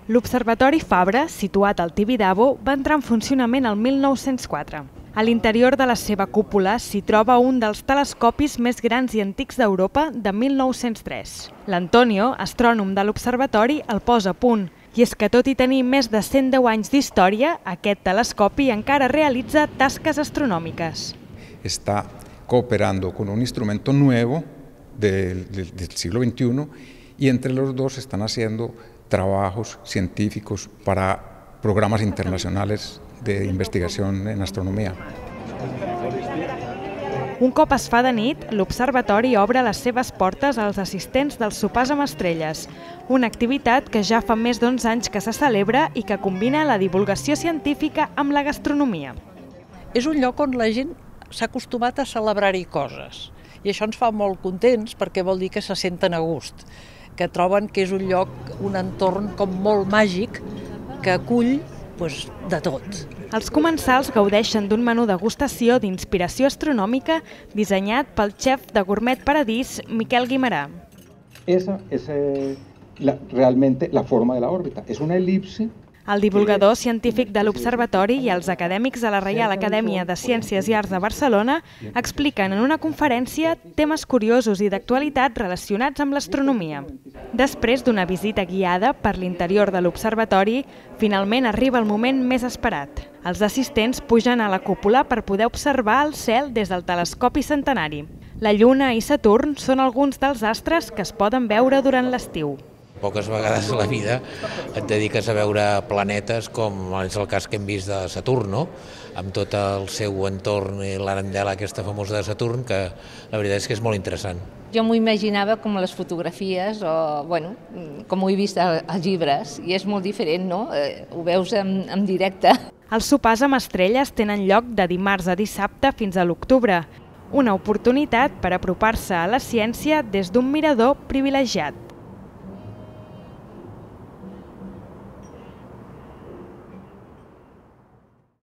L'Observatori Fabra, situat al Tibidabo, va entrar en funcionament el 1904. A l'interior de la seva cúpula s'hi troba un dels telescopis més grans i antics d'Europa de 1903. L'Antonio, astrònom de l'observatori, el posa a punt. I és que tot i tenir més de 110 anys d'història, aquest telescopi encara realitza tasques astronòmiques. Está cooperando con un instrumento nuevo del siglo XXI y entre los dos están haciendo trabajos científicos para programas internacionales de investigación en astronomía. Un cop es fa de nit, l'observatori obre les seves portes als assistents dels sopars amb estrelles, una activitat que ja fa més d'11 anys que se celebra i que combina la divulgació científica amb la gastronomia. És un lloc on la gent s'ha acostumat a celebrar-hi coses i això ens fa molt contents perquè vol dir que se senten a gust, que troben que és un lloc, un entorn com molt màgic que acull de tot. Els comensals gaudeixen d'un menú degustació d'inspiració astronòmica dissenyat pel xef de Gourmet Paradís, Miquel Guimerà. Esa es realmente la forma de la órbita, es una elipse. El divulgador científic de l'Observatori i els acadèmics de la Reial Acadèmia de Ciències i Arts de Barcelona expliquen en una conferència temes curiosos i d'actualitat relacionats amb l'astronomia. Després d'una visita guiada per l'interior de l'Observatori, finalment arriba el moment més esperat. Els assistents pugen a la cúpula per poder observar el cel des del telescopi centenari. La Lluna i Saturn són alguns dels astres que es poden veure durant l'estiu. Poques vegades a la vida et dediques a veure planetes com és el cas que hem vist de Saturn, amb tot el seu entorn i l'arandela aquesta famosa de Saturn, que la veritat és que és molt interessant. Jo m'ho imaginava com a les fotografies o, com ho he vist als llibres, i és molt diferent, no? Ho veus en directe. Els sopars amb estrelles tenen lloc de dimarts a dissabte fins a l'octubre, una oportunitat per apropar-se a la ciència des d'un mirador privilegiat.